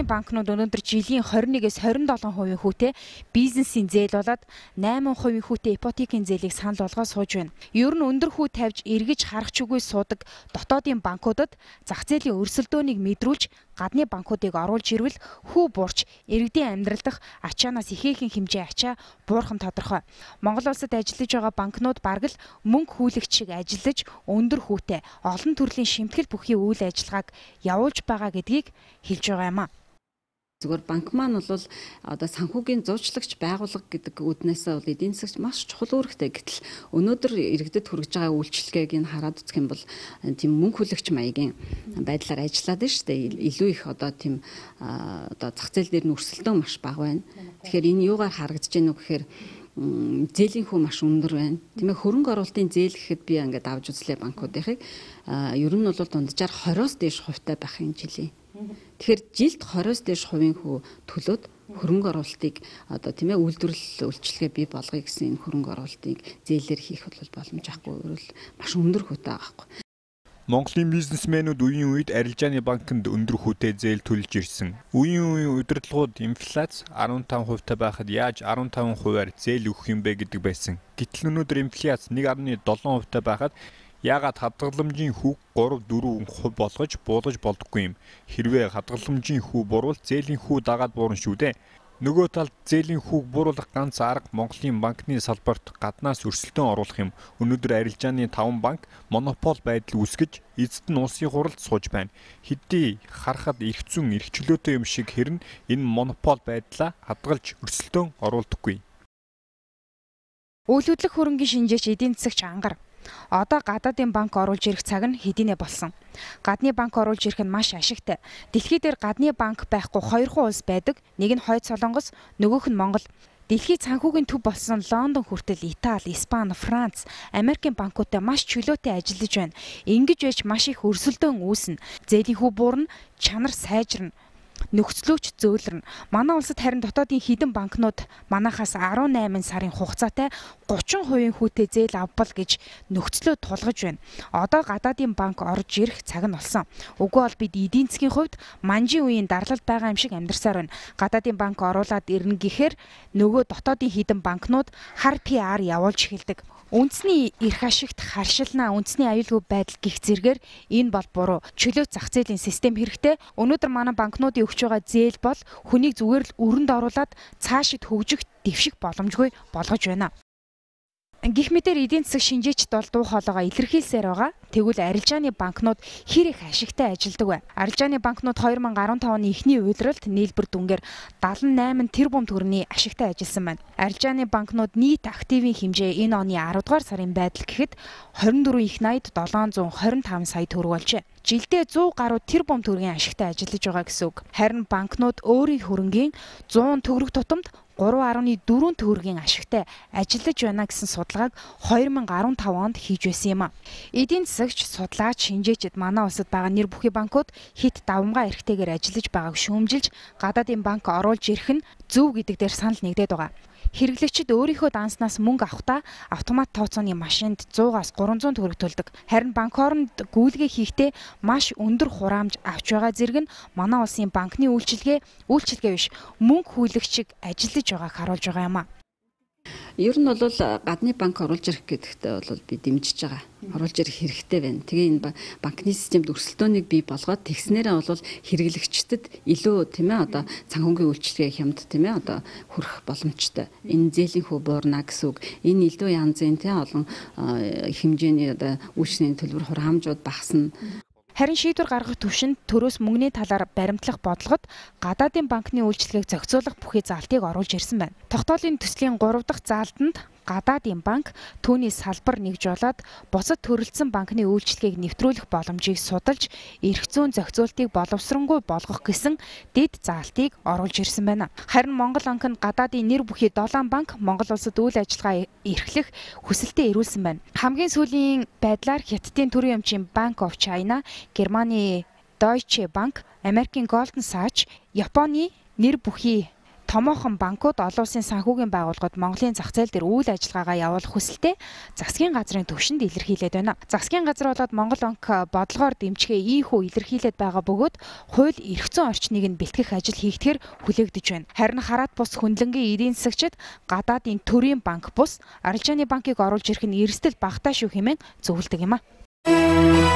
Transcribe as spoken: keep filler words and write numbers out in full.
банкнууд өнөөдөр жилийн двадцать нэгээс двадцать seven хувийн хүүтэй бизнесийн зээл болоод eight хувийн хүүтэй ипотекийн зээлийг санал болгоод сууж байна. Ер нь өндөр хүү тавьж эргэж харах чүгүй суудаг дотоодын банкудад зах зээлийн өрсөлдөөнийг мэдрүүлж гадны банкуудыг оруулж ирвэл хүү буурч иргэдийн амьдрал дах ачаанаас ихээхэн хэмжээ ачаа буурах нь тодорхой. Монгол улсад ажиллаж байгаа банкнууд бараг л мөнгө хүлэгч шиг ажиллаж өндөр хүүтэй олон төрлийн шимтгэл бүхий үйл ажиллагааг явуулж байгаа гэдгийг хэлж байгаа юм а. Зүгээр банк маань бол одоо санхүүгийн зуучлагч байгууллага гэдэг үднээсээ бол эдийн засагч маш чухал үүрэгтэй. Гэтэл өнөөдөр иргэдэд хүргэж байгаа үйлчлэгийг нь хараад үзэх юм бол тийм мөнгө хүлэгч маягийн байдлаар ажиллаад байна шүү дээ. Илүү их одоо тийм одоо зах зээл дээр нь өрсөлдөөн маш бага байна. Тэгэхээр энэ юугаар харагдаж байна вэ гэхээр зээлийн хүү маш өндөр байна. Тийм ээ хөрөнгө оруулалтын зээл гэхэд би ингээд авч үзлээ банкуудынхыг ер нь бол дунджаар twenty-оос дээш хувьтай байх юм жилийн. Тэгэхээр жилд twenty-оос дээш хувийн хүү төлөөд хөрөнгө оруулалтыг одоо тийм ээ үйлдвэрлэл үйлчлэгээ бий болгоё гэсэн энэ хөрөнгө оруулалтыг зээлээр хийх бол боломжгүй өөрөөр маш өндөр хүүтэй байгаа байхгүй. Монголын бизнесмэнүүд үеийн үед арилжааны банкнд өндөр хүүтэй зээл төлж ирсэн. Үеийн үеийн удирдлагууд инфляц fifteen хувьтай байхад яаж fifteen хувиар зээл өгөх юм бэ гэдэг байсан. Гэтэл өнөөдөр инфляц one point seven хувьтай байхад яагаад хадгаламжийн хүүг three four хувь болгож буулгаж болдоггүй юм. Хэрвээ хадгаламжийн хүү буурвал зээлийн хүү дагаад буурна шүү дээ. Нөгөө талд зээлийн хүүг бууруулах ганц арга Монголын банкны салбарт гаднаас өрсөлдөөн оруулах юм. Өнөөдөр арилжааны five банк монопол байдал үүсгэж эцэд нь улсын хуралд сууж байна. Хэдий харахад эрх зүйн эрх чөлөөтэй юм шиг хэрнэ энэ монопол байдлаа хадгалж өрсөлдөөн оруулдаггүй. Үйл хөдлөх хөрөнгийн шинжээч эдийн засагч ангар. Одоо гадаадын банк оруулж ирэх цаг нь хэдийнэ болсон. Гадны банк оруулж ирэх нь маш ашигтай. Дэлхий дээр гадны банк байхгүй хоёрхан улс байдаг. Нэг нь Хойд Солонгос, нөгөөх нь Монгол. Дэлхийн санхүүгийн төв болсон Лондон хүртэл Итали, Испани, Франц, Америкийн банкуудтай маш чөлөөтэй ажиллаж байна. Ингэж байж маш их өрсөлдөөн үүснэ. Зээлийн хүү буурна, чанар сайжирна. Нөхцлөөч зөөлрөн. Манай улсад харин дотоодын хідэн банкнууд манахаас eighteen сарын хугацаатай thirty хувийн хүүтэй зээл авбал гэж нөхцлөө тулгаж байна. Одоо гадаадын банк орж ирэх цаг нь болсон. Үгүй бол бид эдийн засгийн хувьд манжийн үеийн дарлал байгаа юм шиг амьдарсаар байна. Гадаадын банк оруулаад ирнэ гэхээр нөгөө дотоодын хідэн банкнууд хар пи ар явуулж эхэлдэг. Үндэсний эрх ашигт харшилнаа үндэсний аюулгүй байдал гих зэргээр энэ бол буруу. Чөлөөт зах зээлийн систем хэрэгтэй. Өнөөдөр манай банкнуудын өгч байгаа зээл бол хүнийг зүгээр л өрөнд оруулаад цаашид хөгжих дэвших боломжгүй болгож байна. Гэх мэтээр эдийн засаг шинжээчд бол дуу хоолойгоо илэрхийлсээр байгаа. Тэгвэл арилжааны банкнууд хэр их ашигтай ажилладаг вэ? Арилжааны банкнууд twenty fifteen оны эхний уйлралд нийлбэр дүнгээр seventy-eight тэрбум төгрөгийн ашигтай ажилласан байна. Арилжааны банкнууд нийт активын хэмжээ энэ оны ten дугаар сарын байдал гэхэд twenty-four их ninety seven twenty-five сая төгрөг болжээ. Жилдээ one hundred гаруй тэрбум төгрөгийн ашигтай ажиллаж байгаа гэсэн үг. Харин банкнууд өөрийн хөрөнгийн one hundred төгрөг тутамд three point four төгрөгийн ашигтай ажиллаж байна гэсэн судалгааг twenty fifteen онд хийж байсан юм а. Эдийн засагч, судлаач, шинжээчид манай улсад байгаа нэр бүхий банкуд хит давмгай эрхтэйгээр ажиллаж байгааг шүүмжилж гадаадын банк оруулж ирэх нь зөв гэдэг дээр санал нэгдээд байгаа. Хэрэглэгчид өөрийнхөө данснаас мөнгө авахдаа автомат тооцооны машинд one hundred-аас three hundred төгрөг төлдөг. Харин банк хооронд гүйлгээ хийхдээ маш өндөр хураамж авч байгаа зэрэг нь манай улсын банкны үйлчилгээ үйлчилгээ биш мөнгө хүлэгчиг ажиллаж байгааг харуулж байгаа юм а. Ер нь бол гадны банк оруулж ирэх гэдэгтээ бол би дэмжиж байгаа. Оруулж ирэх хэрэгтэй байна. Тэгээ энэ банкны системд өрсөлдөөнийг бий болгоод тэгснээрээ бол хэрэглэгчдэд илүү тийм ээ одоо санхүүгийн үйлчилгээ хямд тийм ээ одоо хүрэх боломжтой. Энэ зээлийн хүү буурна гэсэн үг. Энэ илүү янзын тийм олон хэмжээний одоо үйлчлэгийн төлбөр хураамжууд багасна. Харин шийдвэр гаргах төвшөнд төрөөс мөнгөний талаар баримтлах бодлогод гадаадын банкны үйлчилгээг зохицуулах бүхий заалтыг оруулж ирсэн байна. Тогтоолын төслийн three дахь заалтанд гадаадын банк түүний салбар нэгжуулаад бусад төрөлцсөн банкны үйлчилгээг нэвтрүүлэх боломжийг судалж эрх зүйн зохицуултыг боловсронгүй болгох гэсэн дэд заалтыг оруулж ирсэн байна. Харин Монгол банк нь гадаадын нэр бүхий seven банк Монгол улсад үйл ажиллагаа эрхлэх хүсэлтэд ирүүлсэн байна. Хамгийн сүүлийн байдлаар Хятадын төрийн өмчийн Bank of China, Германы Deutsche Bank, Америкийн Goldman Sachs, Японы нэр бүхий томоохон банкуд олон улсын санхүүгийн байгууллагууд Монголын зах зээл дээр үйл ажиллагаагаа явуулах хүсэлтэй засгийн газрын төвшөнд илэрхийлээд байна. Засгийн газар болоод Монгол банк бодлогоор дэмжихээ ийхүү илэрхийлээд байгаа бөгөөд хууль эрх зүйн орчныг нь бэлтгэх ажил хийгдэхээр хүлээгдэж байна. Харин хараат бус хөндлөнгийн эдийн засагчид гадаадын төрийн банк бус арилжааны банкыг оруулж ирэх нь эрсдэл багтаа шүү хэмээн зөвлөдөг юм а.